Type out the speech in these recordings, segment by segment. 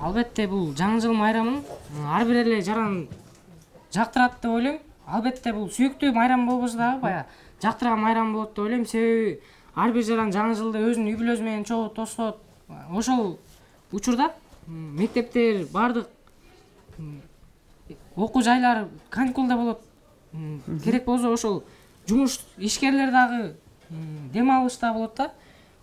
Албетте бул жаңы жыл майрамын ар бир эле жаран жактырат деп ойлойм. Албетте бул сүйүктүү майрам болбосо дагы баягы жактырган майрам болот деп ойлойм. Себеби ар бир жаран жаңы жылды өзүнүн үй бүлөсү менен чогуу тоскоот. Ошол учурда мектептер бардык окуу жайлар каникулда болот. Керек болсо ошол жумуш ишкерлер дагы дем алышта болот да.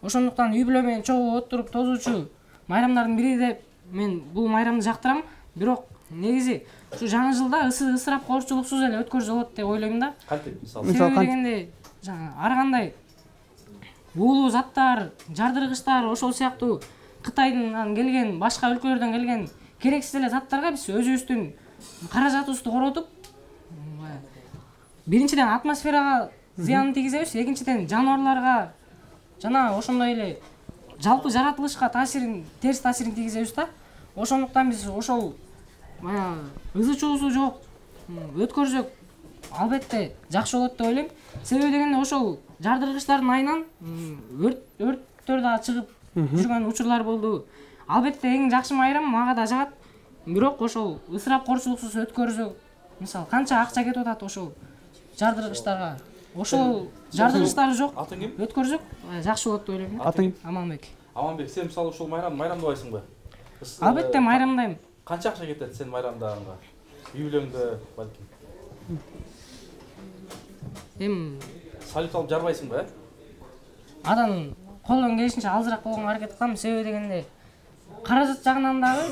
Ошондуктан үй бүлө менен чогуу отуруп тозуучу майрамдардын бири деп мен бул майрамды жактырам. Бирок негизи ушу жаңы жылда ысырап коорчулуксуз эле өткөрүзө болот деп ойлойм да. Кантип мисалы? Себеби дегенде ар кандай уулуу заттар, жардыргычтар, ошол сыяктуу Кытайдан келген, башка өлкөлөрдөн келген керексиз эле заттарга биз өзүбүздүн каражатыбызды коротуп, биринчиден атмосферага зыянын тийгизебиз, экинчиден жаныбарларга жана ошондой эле жалпы жаратылышка терс таасирин тийгизебиз да. Ошондуктан биз ошол баягы ызы-чуусу жок өткөрсөк албетте жакшы болот деп ойлойм. Себеби дегенде ошол жардыргычтардын айынан өрттөр дагы чыгып жүргөн учурлар болду. Албетте эң жакшы майрам мага да жагат. Бирок ошол ысырап коорчулуксуз өткөрсөк, мисалы канча акча кетип атат ошол жардыргычтарга. Ошол жардыргычтары жок өткөрсөк жакшы болот деп ойлойм. Атың? Аманбек. Аманбек, сен мисалы ушул майрамдабайсыңбы? Албетте майрамдайм. Канча акча кетет сен майрамдаганга? Үй бүлөңдө балким. Салют алып жарбайсыңбы, Адан колдон келишинче азыраак болгонго аракет кылам. Себеби дегенде каражат жагынан дагы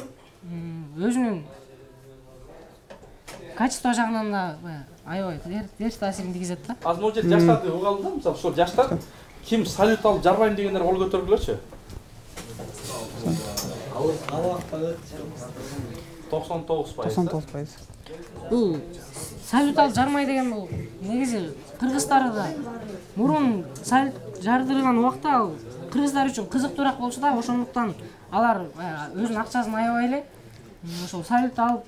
өзүнүн качество жагынан да аябай терс таасирин тийгизет да. Азыр могу жерде жаштарды угуп алдым да, мисалы ошол жаштар ким салют алып жарбайм дегендер кол көтөргүлөчү. 99%. Бул салют алып жармай деген бул негизи кыргыздарда мурун салют жардырган убакта ал кыргыздар үчүн кызыктуураак болчу да. Ошондуктан алар өзүнүн акчасын аябай эле ошол салют алып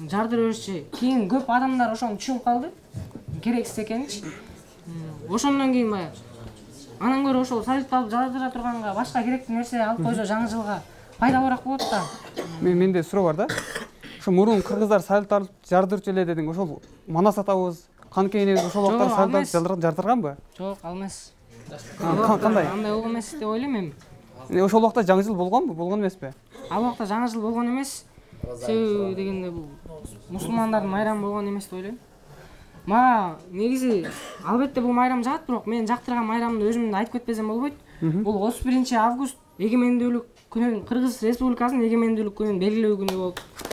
жардыра беришчи. Кийин көп адамдар ошону түшүнүп калды, керексиз экенинчи. Ошондон кийин баягы анан көрө ошол салют алып жардыра турганга башка керектүү нерсе алып койсо жаңы жылга пайдалуураак болот да. Менде суроо бар да. Ошо мурун кыргыздар салют алып жардырчу эле дедиң. Ошол манас атабыз, канке энебиз ошол убакта салют алып жардырганбы? Жок, ал эмес. Кандай? Андай болгон эмес деп ойлойм эми. Ошол убакта жаңы жыл болгонбу? Болгон эмеспи? Ал убакта жаңы жыл болгон эмес. Себеби дегенде бул мусулмандардын майрамы болгон эмес деп ойлойм. Мага негизи албетте бул майрам жагат, бирок мен жактырган майрамды өзүмдү айтып кетпесем болбойт. Бул 31 август эгемендүүлүк күнүн, Кыргыз Республикасынын эгемендүүлүк күнүн белгилөө күнү болуп